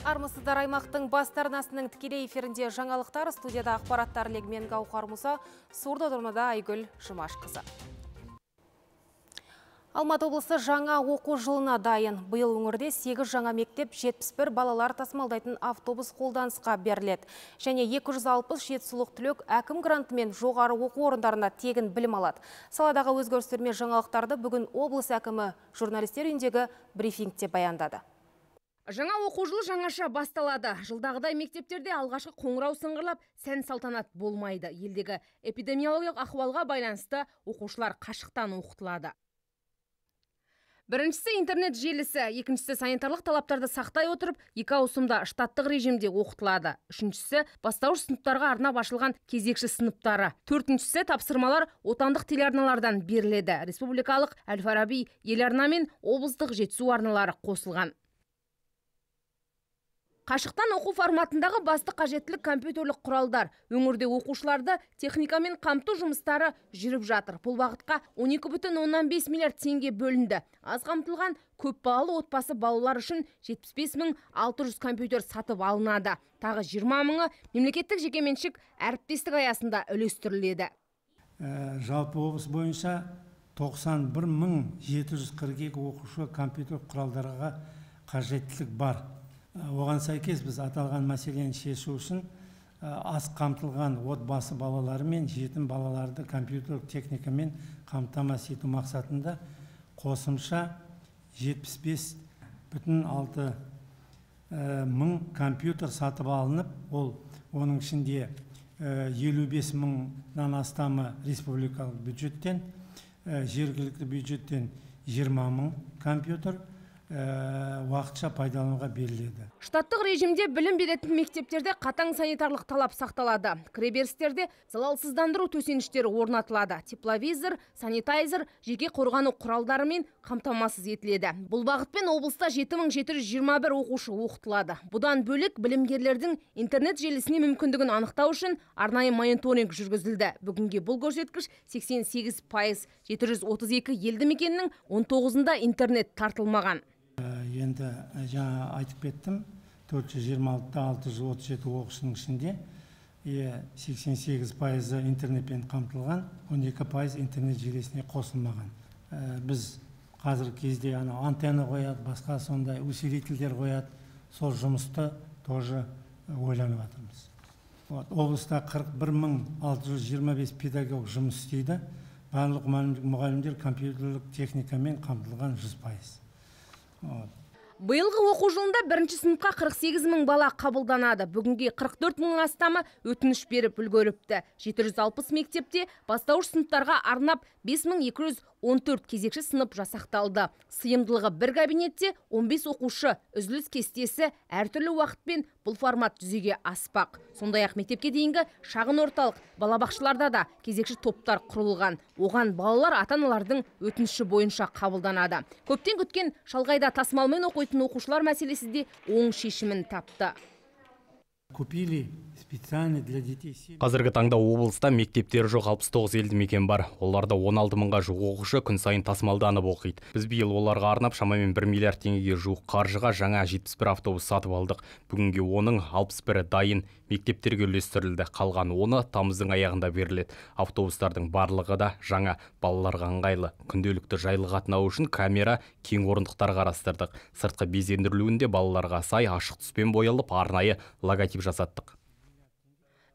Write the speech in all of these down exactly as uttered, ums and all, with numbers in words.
Армысыздар, аймақтың бастар арнасының тікелей эфирінде жаңалықтар, студияда ақпараттар легімен Гаухар Мұса, сурда тұрмада Айгүл Жұмашқызы. Алматы облысы жаңа оқу жылына дайын. Биыл өңірде сегіз жаңа мектеп, жетпіс бір балалар тасымалдайтын автобус қолданысқа беріледі. Және екі жүз алпыс жетісулық түлек әкім грантымен жоғары оқу орындарына тегін білім алады. Саладағы өзгерістер мен жаңалықтарды бүгін облыс әкімі журналистер үйіндегі брифингте баяндады. Жаңа оқу жылы жаңаша басталады. Жылдағыдай мектептерде алғашқы қоңырау сыңғырлап, сән салтанат болмайды. Елдегі эпидемиологиялық ахуалға байланысты оқушылар қашықтан оқытылады. Біріншісі интернет желісі, екіншісі санитарлық талаптарды сақтай отырып, екі ауысымда штаттық режимде оқытылады. Үшіншісі бастауыш сыныптарға арнап ашылған кезекші сыныптары. Төртіншісі тапсырмалар отандық телеарналардан беріледі. Республикалық Әл-Фараби, Еларна мен облыстық Жетісу арналары қосылған. Қашықтан оқу форматындағы басты қажеттілік компьютерлік құралдар. Өңірде оқушыларды техникамен қамту жұмыстары жүріп жатыр. Бұл бағытқа он екі бүтін оннан бес миллиард теңге бөлінді. Аз қамтылған көпбалалы отбасы балалар үшін жетпіс бес мың алты жүз компьютер сатып алынады. Тағы жиырма мыңы мемлекеттік жекеменшік әріптестік аясында үлестіріледі. Жалпы облыс бойынша тоқсан бір мың жеті жүз қырық екі оқушы компьютер құралдарға қажеттілік бар. Оған сәйкес біз аталған мәселені шешу үшін аз қамтылған отбасы балалары мен жетім балаларды компьютерлік техникамен қамтамасыз ету мақсатында қосымша жетпіс бес бүтін алты мың компьютер сатып алынып, ол оның ішінде елу бес мыңнан астамы республикалық бюджеттен, жергілікті бюджеттен жиырма мың компьютер уақытша пайдалануға беріледі. Штаттық режимде білім беретін мектептерде қатаң санитарлық талап сақталады. Кіреберістерде залалсыздандыру төсеніштері орнатылады. Тепловизор, санитайзер, жеке қорғану құралдарымен қамтамасыз етіледі. Бұл бағытпен облыста жеті мың жеті жүз жиырма бір оқушы оқытылады. Бұдан бөлек білімгерлердің интернет желісіне мүмкіндігін анықтау үшін арнайы мониторинг жүргізілді. Бүгінге бұл көрсеткіш сексен сегіз пайыз, жеті жүз отыз екі елді мекеннің он тоғызында интернет тартылмаған. Енді жаңа айтып кеттім, төрт жүз жиырма алты мың алты жүз отыз жеті оқушының ішінде сексен сегіз пайызы интернетпен қамтылған, он екі пайыз интернет желісіне қосылмаған. Біз қазіргі кезде антенна қояды, басқа сондай усилительдер қояды, сол жұмысты тоже ойланып жатырмыз. Облыста қырық бір мың алты жүз жиырма бес педагог жұмыс істейді. Барлық мұғалімдер компьютерлік техникамен қамтылған жүз пайыз. Биылғы оқу жылында бірінші сыныпқа қырық сегіз мың бала қабылданады. Бүгінге қырық төрт мың астамы өтініш беріп үлгеріпті. жеті жүз алпыс мектепте бастауыш сыныптарға арнап бес мың екі жүз он төрт кезекші сынып жасақталды. Сыйымдылығы бір кабинетте он бес оқушы, үзіліс кестесі әртүрлі уақытпен бұл формат жүзеге аспақ. Сондай-ақ мектепке дейінгі шағын орталық балабақшаларда да кезекші топтар құрылған. Оған балалар ата-аналардың өтініші бойынша қабылданады. Көптен күткен шалғайда тасымалмен оқитын оқушылар мәселесі де оң шешімін тапты. Купили специально для детей. Қазіргі таңда облыста мектептері жоқ алпыс тоғыз елді мекен бар. Оларда он алты мыңға жуық оқушы күн сайын тасымалданып оқиды. Біз биыл оларға арнап шамамен бір миллиард теңгеге жуық қаржыға жаңа жетпіс бір автобус сатып алдық. Бүгінге оның алпыс бірі дайын, мектептерге үлестірілді. Қалған оны тамыздың аяғында беріледі. Автобустардың барлығы да жаңа, балаларға ыңғайлы. Күнделікті жайлы қатынау үшін камера, кең орындықтар қарастырдық. Сыртқы безендірілуінде балаларға сай ашық түспен боялып, арнайы логотип жасаттық.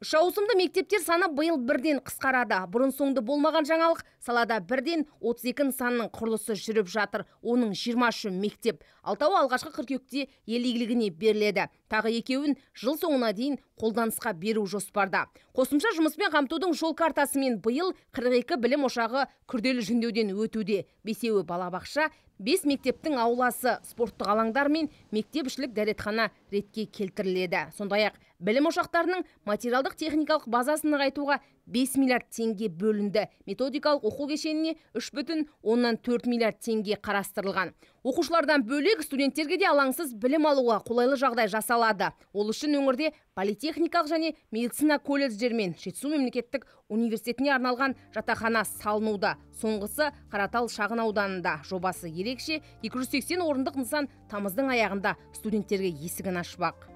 Үш ауысымды мектептер саны биыл бірден қысқарады. Бұрын соңды болмаған жаңалық, салада бірден отыз екі нысанның құрылысы жүріп жатыр. Оның жиырма үші мектеп. Алтауы алғашқы қыркүйекте ел игілігіне беріледі. Тағы екеуін жыл соңына дейін қолданысқа беру жоспарда. Қосымша жұмыспен қамтудың жол картасымен биыл қырық екі білім ошағы күрделі жөндеуден өтуде. Бесеуі балабақша, бес мектептің ауласы, спорттық алаңдар мен мектепішілік дәретхана ретке келтіріледі. Сондай-ақ білім ошақтарының материалдық техникалық базасын нығайтуға бес миллиард теңге бөлінді. Методикалық оқу кешеніне үш бүтін оннан төрт миллиард теңге қарастырылған. Оқушылардан бөлек студенттерге де алаңсыз білім алуға қолайлы жағдай жасалады. Ол үшін өңірде политехникалық және медицина колледждер мен Жетісу мемлекеттік университетіне арналған жатақхана салынуда. Соңғысы Қаратал шағын ауданында. Жобасы ерекше, екі жүз сексен орындық нысан тамыздың аяғында студенттерге есігін ашпақ.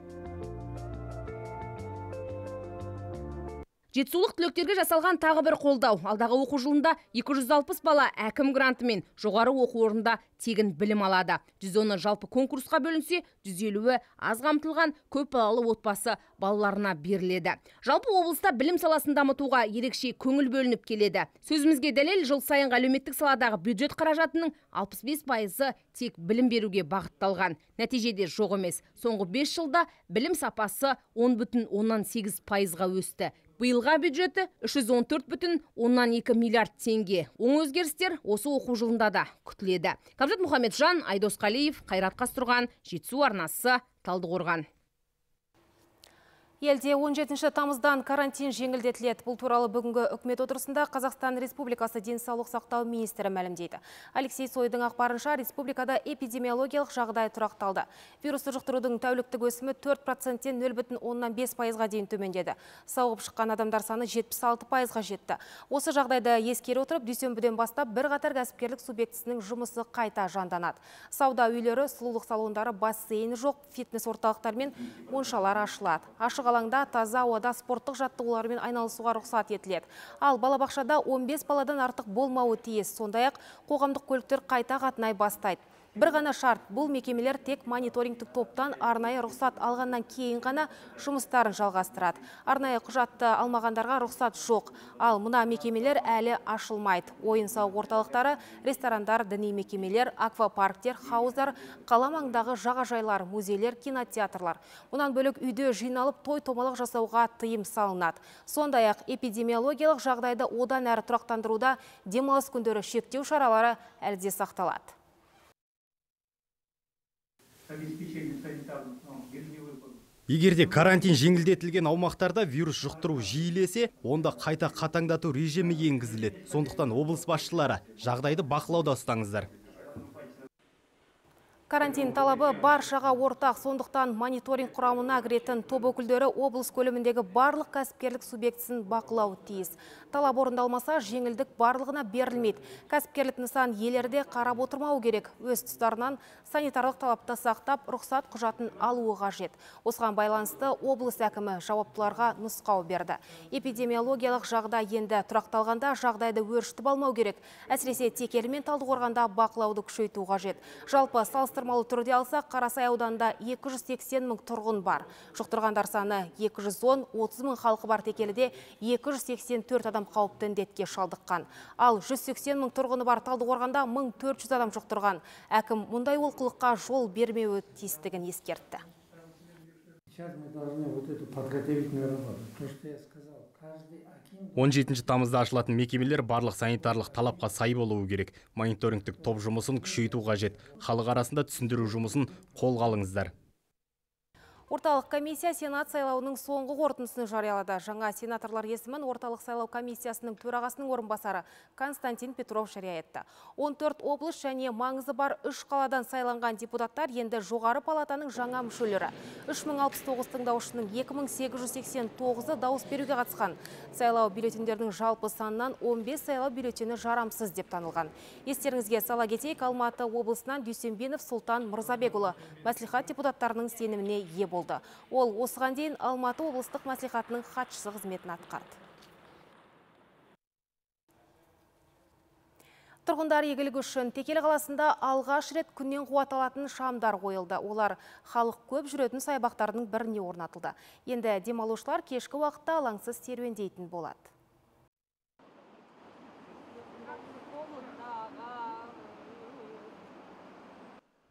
Жетісулық түлектерге жасалған тағы бір қолдау. Алдағы оқу жылында екі жүз алпыс бала әкім грантымен жоғары оқу орнында тегін білім алады. жүз оны жалпы конкурсқа бөлінсе, жүз елуі аз қамтылған көп балалы отбасы балаларына беріледі. Жалпы облыста білім саласын дамытуға ерекше көңіл бөлініп келеді. Сөзімізге дәлел, жыл сайынғы әлеуметтік саладағы бюджет қаражатының алпыс бес пайызы тек білім беруге бағытталған. Нәтижеде жоқ емес. Соңғы бес жылда білім сапасы он бүтін оннан сегіз пайызға өсті. Биылға бюджеті үш жүз он төрт бүтін оннан екі миллиард теңге. Оң өзгерістер осы оқу жылында да күтіледі. Кабжат Мұхамеджан, Айдос Қалиев, Қайрат Қастұрған, Жетісу арнасы, Талдықорған. Елде он жетінші тамыздан карантин жеңілдетіледі. Бұл туралы бүгінгі үкімет отырысында Қазақстан Республикасы денсаулық сақтау министрі мәлімдейді. Алексей Сойдың ақпарынша, республикада эпидемиологиялық жағдай тұрақталды. Вирусты жұқтырудың тәуліктік өсімі төрт проценттен нөл бүтін оннан бес пайызға дейін төмендеді. Сауығып шыққан адамдар саны жетпіс алты пайызға жетті. Осы жағдайды ескере отырып, дүйсенбіден бастап бір қатар кәсіпкерлік субъектісінің жұмысы қайта жанданады. Сауда үйлері, сұлулық салондары, бассейні жоқ, фитнес орталықтар мен моншалар ашылады. Ашық алаңда таза ауада спорттық жаттығулармен айналысуға рұқсат етіледі. Ал балабақшада он бес баладан артық болмауы тиіс. Сондай-ақ қоғамдық көліктер қайта қатынай бастайды. Бір ғана шарт, бұл мекемелер тек мониторингтік топтан арнайы рұқсат алғаннан кейін ғана жұмыстарын жалғастырады. Арнайы құжатты алмағандарға рұқсат жоқ. Ал мына мекемелер әлі ашылмайды. Ойын сауық орталықтары, ресторандар, діни мекемелер, аквапарктер, хауыздар, қала маңындағы жағажайлар, музейлер, кинотеатрлар. Мұнан бөлек үйде жиналып той томалақ жасауға тыйым салынады. Сондай-ақ эпидемиологиялық жағдайды одан әрі тұрақтандыруда демалыс күндері шектеу шаралары әлде сақталады. Егерде карантин жеңілдетілген аумақтарда вирус жұқтыру жиілесе, онда қайта қатаңдату режимі енгізіледі. Сондықтан облыс басшылары жағдайды бақылауда ұстаңыздар. Карантин талабы баршаға ортақ, сондықтан мониторинг құрамына кіретін топ өкілдері облыс көлеміндегі барлық кәсіпкерлік субъектісін бақылау тиіс. Талап орындалмаса, жеңілдік барлығына берілмейді. Кәсіпкерлік нысан иелері қарап отырмау керек. Өз тұстарынан санитарлық талапты сақтап, рұқсат құжатын алуы қажет. Осыған байланысты облыс әкімі жауаптыларға нұсқау берді. Эпидемиологиялық жағдай енді тұрақталғанда жағдайды өршітіп алмау керек. Әсіресе Текелі мен Талдықорғанда бақылауды күшейту қажет. Жалпы салыстырмалы түрде алсақ, Қарасай ауданында екі жүз сексен мың тұрғын бар. Жұқтырғандар саны екі жүз он, отыз мың халқы бар Текеліде екі жүз сексен төрт адам қауіпті індетке шалдыққан. Ал жүз сексен мың тұрғыны бар Талдықорғанда мың төрт жүз адам жұқтырған. Әкім мұндай олқылыққа жол бермеуі тиістігін ескертті. он жетінші тамызда ашылатын мекемелер барлық санитарлық талапқа сай болуы керек. Мониторингтік топ жұмысын күшейту қажет. Халық арасында түсіндіру жұмысын қолға алыңыздар. Орталық комиссия Сенат сайлауының соңғы қорытындысын жариялады. Жаңа сенаторлар есімін Орталық сайлау комиссиясының төрағасының орынбасары Константин Петров жария етті. он төрт облыс және маңызы бар үш қаладан сайланған депутаттар енді жоғары палатаның жаңа мүшелері. үш мың алпыс тоғыз тыңдаушының екі мың сегіз жүз сексен тоғызы дауыс беруге қатысқан. Сайлау бюллетендердің жалпы санынан он бес сайлау бюллетені жарамсыз деп танылған. Естеріңізге сала кетейік, Алматы облысынан Дүйсенбинов Сұлтан Мырзабекұлы мәслихат депутаттарының сеніміне ие болды. Ол осыған дейін Алматы облыстық мәслихатының хатшысы қызметін атқарды. Тұрғындар игілігі үшін Текелі қаласында алғаш рет күннен қуат алатын шамдар қойылды. Олар халық көп жүретін саябақтардың біріне орнатылды. Енді демалушылар кешкі уақытта алаңсыз серуендейтін болады.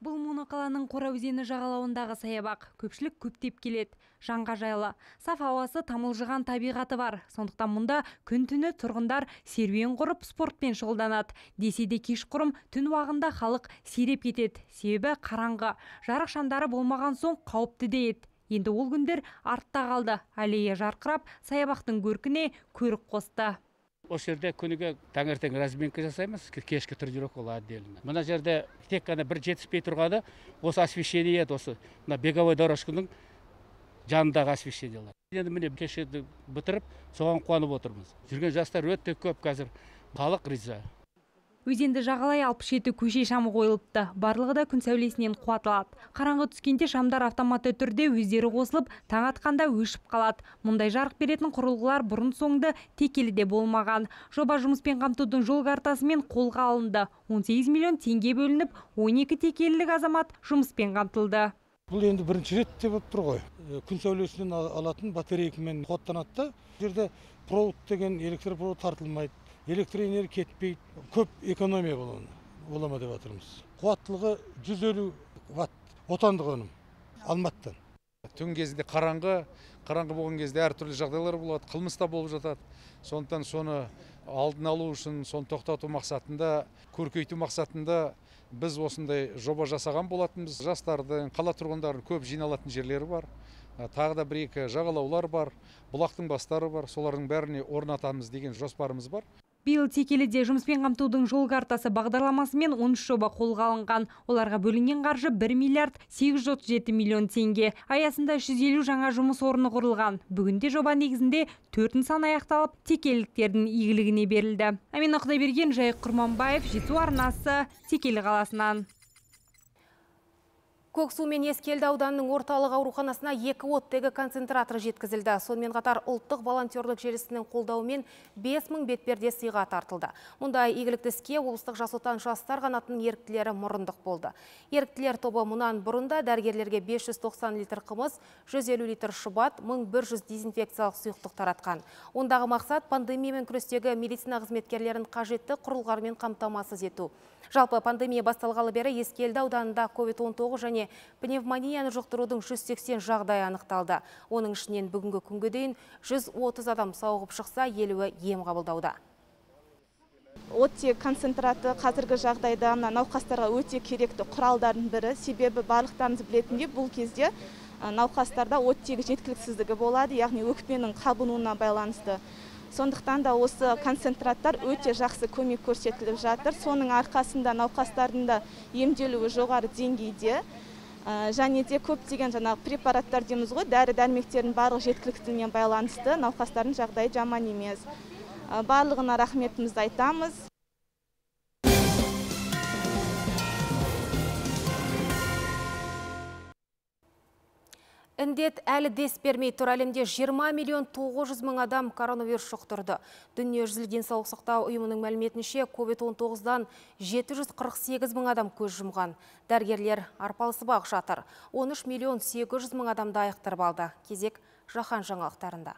Бұл моноқаланың Қора өзені жағалауындағы саябақ. Көпшілік көптеп келеді. Жанға жайлы. Саф ауасы, тамылжыған табиғаты бар. Сондықтан мұнда күн-түні тұрғындар серуен құрып спортпен шұғылданады. Десе де кешқұрым түн уағында халық сиреп кетеді. Себебі қараңғы. Жарық шамдары болмаған соң қауіпті де еді. Енді ол күндер артта қалды. Аллея жарқырап, саябақтың көркіне көрік қосты. Осы жерде күніге таңертең разминка жасаймыз, кешкі тренировка ол отдельно. Мына жерде тек қана бір жетіспей тұрғаны осы освещение еді, осы мына беговой дорожканың жанындағы освещениялар. Енді міне кешеді бітіріп, соған қуанып отырмыз. Жүрген жастар өте көп қазір, халық риза. Өзенді жағалай алпыс жеті көше шамы қойылыпты. Барлығы да күн сәулесінен қуат алады. Қараңғы түскенде шамдар автоматты түрде өздері қосылып, таң атқанда өшіп қалады. Мұндай жарық беретін құрылғылар бұрын соңды текеліде болмаған. Жоба жұмыспен қамтудың жол картасымен қолға алынды. он сегіз миллион теңге бөлініп, он екі текелілік азамат жұмыспен қамтылды. Бұл енді бірінші рет деп тұр ғой. Күн сәулесінен алатын батарейкамен қуаттанады. Жерде провод деген электропровод тартылмайды. Электроэнергия кетпейді, көп экономия бола деп жатырмыз. Қуаттылығы жүз елу ватт, отандық өнім, Алматыдан. Түн кезінде қараңғы, қараңғы болған кезде әртүрлі жағдайлар болады, қылмыс та болып жатады. Сондықтан соны алдын алу үшін, соны тоқтату мақсатында, көркейту мақсатында біз осындай жоба жасаған болатынбыз. Жастардың, қала тұрғындарын көп жиналатын жерлері бар. Тағы да бір екі жағалаулар бар, бұлақтың бастары бар. Солардың бәріне орнатамыз деген жоспарымыз бар. Биыл текеліде жұмыспен қамтудың жол картасы бағдарламасымен он үш жоба қолға алынған. Оларға бөлінген қаржы бір миллиард сегіз жүз отыз жеті миллион теңге. Аясында жүз елу жаңа жұмыс орны құрылған. Бүгінде жоба негізінде төрт нысан аяқталып, текеліктердің игілігіне берілді. Амина Құдайберген, Жайық Құрманбаев, Жетісу арнасы, Текелі қаласынан. Көксу мен Ескелді ауданының орталық ауруханасына екі оттегі концентраторы жеткізілді. Сонымен қатар ұлттық волонтерлік желісінің қолдауымен бес мың бетперде сыйға тартылды. Мұндай игілікті іске облыстық жас отан жастар қанатының еріктілері мұрындық болды. Еріктілер тобы мұнан бұрында дәрігерлерге бес жүз тоқсан литр қымыз, жүз елу литр шұбат, мың бір жүз дезинфекциялық сұйықтық таратқан. Ондағы мақсат пандемиямен күрестегі медицина қызметкерлерін қажетті құрылғармен қамтамасыз ету. Жалпы пандемия басталғалы бері Ескелді ауданында ковид он тоғыз және пневмонияны жұқтырудың жүз сексен жағдайы анықталды. Оның ішінен бүгінгі күнге дейін жүз отыз адам сауығып шықса, елуі ем қабылдауда. Оттек концентраты қазіргі жағдайда науқастарға өте керекті құралдардың бірі. Себебі барлықтарыңыз білетіндей бұл кезде науқастарда оттегі жеткіліксіздігі болады, яғни өкпенің қабынуына байланысты. Сондықтан да осы концентраттар өте жақсы көмек көрсетіліп жатыр. Соның арқасында науқастардың да емделуі жоғары деңгейде. Және де көптеген жаңағы препараттар дейміз ғой, дәрі-дәрмектердің барлық жеткіліктілігіне байланысты науқастардың жағдайы жаман емес. Барлығына рахметімізді айтамыз. Індет әлі дес бермей тұр. Әлемде жиырма миллион тоғыз жүз мың адам коронавирус жұқтырды. Дүниежүзілік денсаулық сақтау ұйымының мәліметінше ковид он тоғыздан жеті жүз қырық сегіз мың адам көз жұмған. Дәрігерлер арпалысып-ақ жатыр. он үш миллион сегіз жүз мың адамды айықтырып алды. Кезек жаһан жаңалықтарында.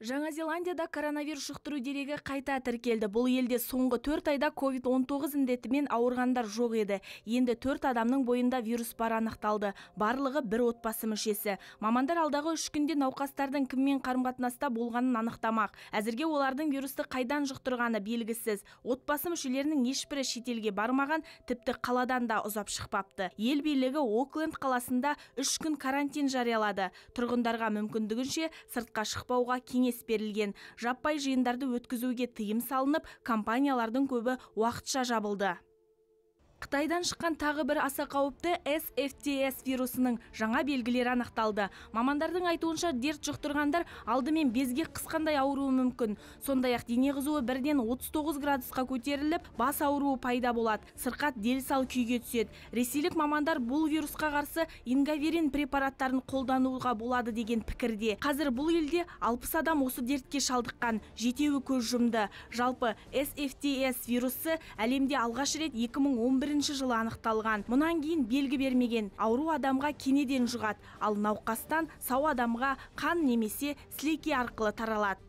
Жаңа Зеландияда коронавирус жұқтыру дерегі қайта тіркелді. Бұл елде соңғы төрт айда ковид он тоғыз індетімен ауырғандар жоқ еді. Енді төрт адамның бойында вирус бар анықталды. Барлығы бір отбасы мүшесі. Мамандар алдағы үш күнде науқастардың кіммен қарым-қатынаста болғанын анықтамақ. Әзірге олардың вирусты қайдан жұқтырғаны белгісіз. Отбасы мүшелерінің ешбірі шетелге бармаған, тіпті қаладан да ұзап шықпапты. Ел билігі Окленд қаласында үш күн карантин жариялады. Тұрғындарға мүмкіндігінше сыртқа шықпауға кеңес берілген. Жаппай жиындарды өткізуге тыйым салынып, компаниялардың көбі уақытша жабылды. Қытайдан шыққан тағы бір аса қауіпті эс эф ти эс вирусының жаңа белгілері анықталды. Мамандардың айтуынша дерт жұқтырғандар алдымен безге қысқандай ауруы мүмкін. Сондай-ақ дене қызуы бірден отыз тоғыз градусқа көтеріліп, бас ауруы пайда болады. Сырқат дел-сал күйге түседі. Ресейлік мамандар бұл вирусқа қарсы ингаверин препараттарын қолдануға болады деген пікірде. Қазір бұл елде алпыс адам осы дертке шалдыққан, жетеуі көз жұмды. Жалпы эс эф ти эс вирусы әлемде алғаш рет екі мың он бірінші жылы анықталған. Мұнан кейін белгі бермеген. Ауру адамға кенеден жұғады, ал науқастан сау адамға қан немесе сілекей арқылы таралады.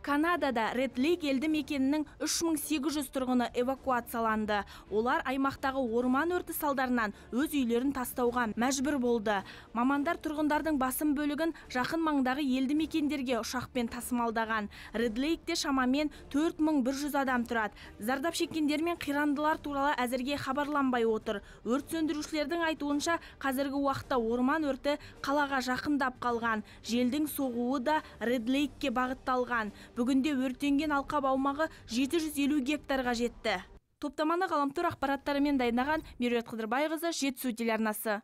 Канадада Ред Лейк елді мекенінің үш мың сегіз жүз тұрғыны эвакуацияланды. Олар аймақтағы орман өрті салдарынан өз үйлерін тастауға мәжбүр болды. Мамандар тұрғындардың басым бөлігін жақын маңдағы елді мекендерге ұшақпен тасымалдаған. Ред Лейкте шамамен төрт мың бір жүз адам тұрады. Зардап шеккендер мен қирандылар туралы әзірге хабарланбай отыр. Өрт сөндірушілердің айтуынша, қазіргі уақытта орман өрті қалаға жақындап қалған. Желдің соғуы да Ред Лейкке бағытталған. Бүгінде өртенген алқап аумағы жеті жүз елу гектарға жетті. Топтаманы ғаламтор ақпараттарымен дайындаған Меруерт Қыдырбайқызы, Жетісу телеарнасы.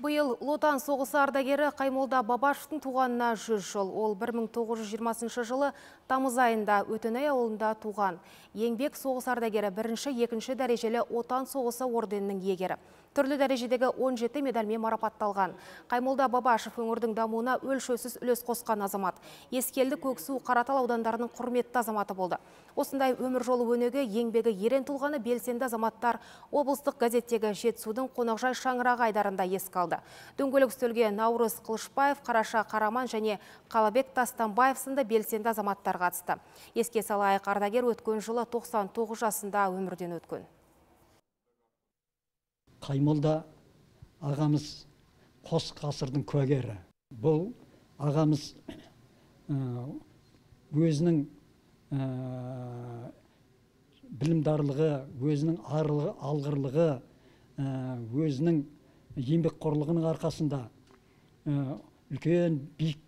Биыл Отан соғысы ардагері Қаймолда Бабашевтың туғанына жүз жыл. Ол бір мың тоғыз жүз жиырмасыншы жылы тамыз айында Өтенай ауылында туған. Еңбек соғыс ардагері бірінші, екінші дәрежелі Отан соғысы орденінің иегері. Түрлі дәрежедегі он жеті медальмен марапатталған. Қаймолда Бабашев өңірдің дамуына өлшеусіз үлес қосқан азамат. Ескелді, Көксу, Қаратал аудандарының құрметті азаматы болды. Осындай өмір жолы өнеге еңбегі ерен тұлғаны белсенді азаматтар облыстық газеттегі Жетісудың қонақжай шаңырағы айдарында еске алды. Дөңгелек үстелге Наурыз Қылышбаев, Қараша Қараман және Қалабек Тастанбаев сынды белсенді азаматтар қатысты. Еске салайық, ардагер өткен жылы тоқсан тоғыз жасында өмірден өткен. Қаймолда ағамыз қос ғасырдың куәгері. Бұл ағамыз өзінің білімдарлығы, өзінің алғырлығы, өзінің еңбекқорлығының арқасында үлкен биік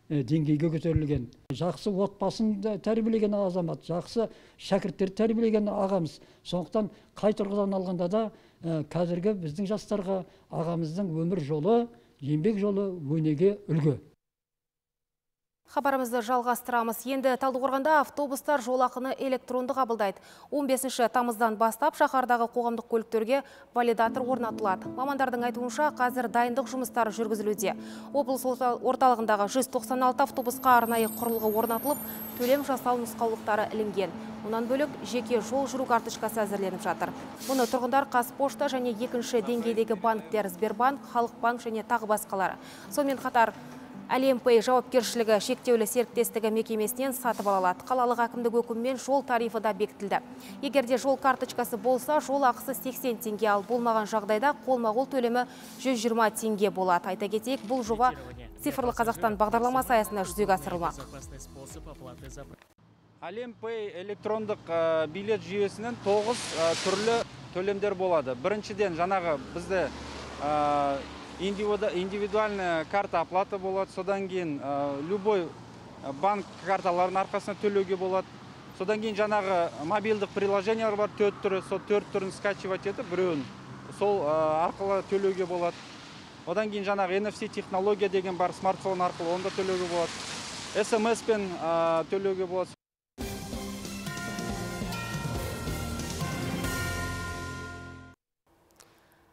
деңгейге көтерілген. Жақсы отбасын тәрбиелеген азамат, жақсы шәкірттер тәрбиелеген ағамыз. Сондықтан қай тұрғыдан алғанда да қазіргі біздің жастарға ағамыздың өмір жолы, еңбек жолы өнеге үлгі. Хабарымызды жалғастырамыз. Енді Талдықорғанда автобустар жолақыны электронды қабылдайды. он бесінші тамыздан бастап шаһардағы қоғамдық көліктерге валидатор орнатылады. Мамандардың айтуынша қазір дайындық жұмыстары жүргізілуде. Облыс орталығындағы жүз тоқсан алты автобусқа арнайы құрылғы орнатылып, төлем жасау нұсқаулықтары ілінген. Мұнан бөлек жеке жол жүру карточкасы әзірленіп жатыр. Мұны тұрғындар Қазпошта және екінші деңгейдегі банктер Сбербанк, Халық банк және тағы басқалары. Сонымен қатар Әлемпей жауапкершілігі шектеулі серіктестігі мекемесінен сатып алалады. Қалалық әкімдік өкімімен жол тарифы да бекітілді. Егерде жол карточкасы болса, жол ақысы сексен теңге, ал болмаған жағдайда қолма-қол төлемі жүз жиырма теңге болады. Айта кетейік, бұл жоба Цифрлы Қазақстан бағдарламасы аясында жүзеге асырылмақ. Әлемпей электрондық билет жүйесінен тоғыз түрлі төлемдер болады. Біріншіден жаңағы бізде индивидуальная карта оплаты болады, содан кейін любой банк карталарын арқасына төлеуге болады. Содан кейін жаңағы мобилдік приложениялар бар, төрт түрі, сол төрт түрін скачивать етіп, біреуін сол арқылы төлеуге болады. Одан кейін жаңағы эн эф си технология деген бар, смартфон арқылы онда төлеуге болады. эс эм эс-пен төлеуге болады.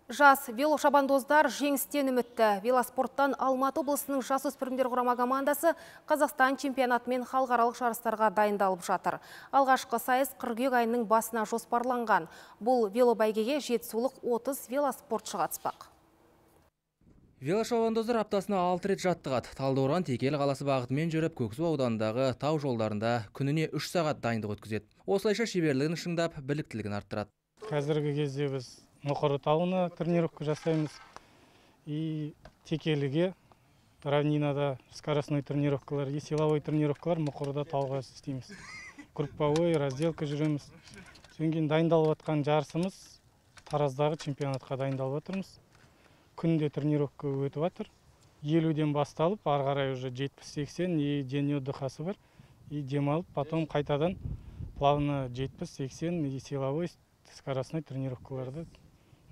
Жас велошабандоздар жеңістен үмітті. Велоспорттан Алматы облысының жасөспірімдер құрама командасы Қазақстан чемпионаты мен халықаралық жарыстарға дайындалып жатыр. Алғашқы сайыс қыркүйек айының басына жоспарланған. Бұл велобәйгеге жетісулық отыз велоспортшы қатыспақ. Велошабандоздар аптасына алты рет жаттығады. Талдықорған Текелі қаласы бағытымен жүріп, Көксу ауданындағы тау жолдарында күніне үш сағат дайындық өткізеді. Осылайша шеберлігін шыңдап, біліктілігін арттырады. Қазіргі кезде біз Мұқыры тауына тренировка жасаймыз. И Текеліге, равнинада скоростной тренировкалар, и силовой тренировкалар Мұқырда тауға істейміз. Групповой, разделка жүреміз. Содан кейін дайындалып жатқан жарысымыз Тараздағы чемпионатқа дайындалып жатырмыз. Күнде тренировка өтіп жатыр. елуден басталып, ары қарай уже жетпіс сексен, и день отдыхасы бар. И демалып, потом қайтадан плавно жетпіс сексен и силовой скоростной тренировкаларды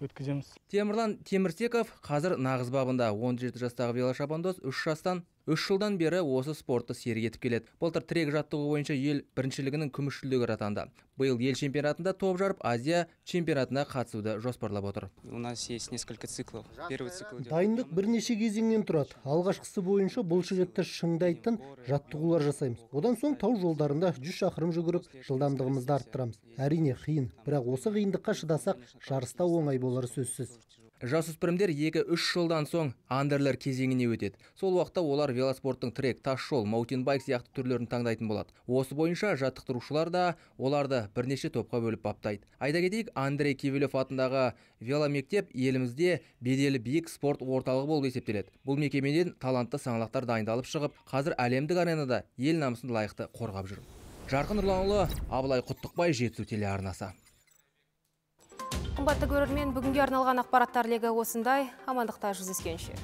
өткіземіз. Темірлан Темірсеков қазір нағыз бабында. он жеті жастағы велошабандоз үш жастан үш жылдан бері осы спортты серік етіп келеді. Былтыр трек жаттығу бойынша ел біріншілігінің күміс жүлдегері атанды. Биыл ел чемпионатында топ жарып, Азия чемпионатына қатысуды жоспарлап отыр. У нас есть несколько циклов. Первый цикл идет. Дайындық бірнеше кезеңнен тұрады. Алғашқысы бойынша бұл жігітті шыңдайтын жаттығулар жасаймыз. Одан соң тау жолдарында жүз шақырым жүгіріп, жылдамдығымызды арттырамыз. Әрине қиын, бірақ осы қиындыққа шыдасақ, жарыста оңай болары сөзсіз. Жасөспірімдер екі-үш жылдан соң андерлер кезеңіне өтеді. Сол уақытта олар велоспорттың трек, тас жол, маутинбайк сияқты түрлерін таңдайтын болады. Осы бойынша жаттықтырушылар да оларды бірнеше топқа бөліп баптайды. Айта кетейік, Андрей Кивелев атындағы веломектеп елімізде беделі биік спорт орталығы болып есептеледі. Бұл мекемеден талантты саңлақтар дайындалып шығып, қазір әлемдік аренада ел намысын лайықты қорғап жүр. Жарқын Нұрланұлы, Абылай Құттықбай, Жетісу телеарнасы. Қымбатты көрермен, бүгінге арналған ақпараттар легі осындай. Амандықта жүздескенше.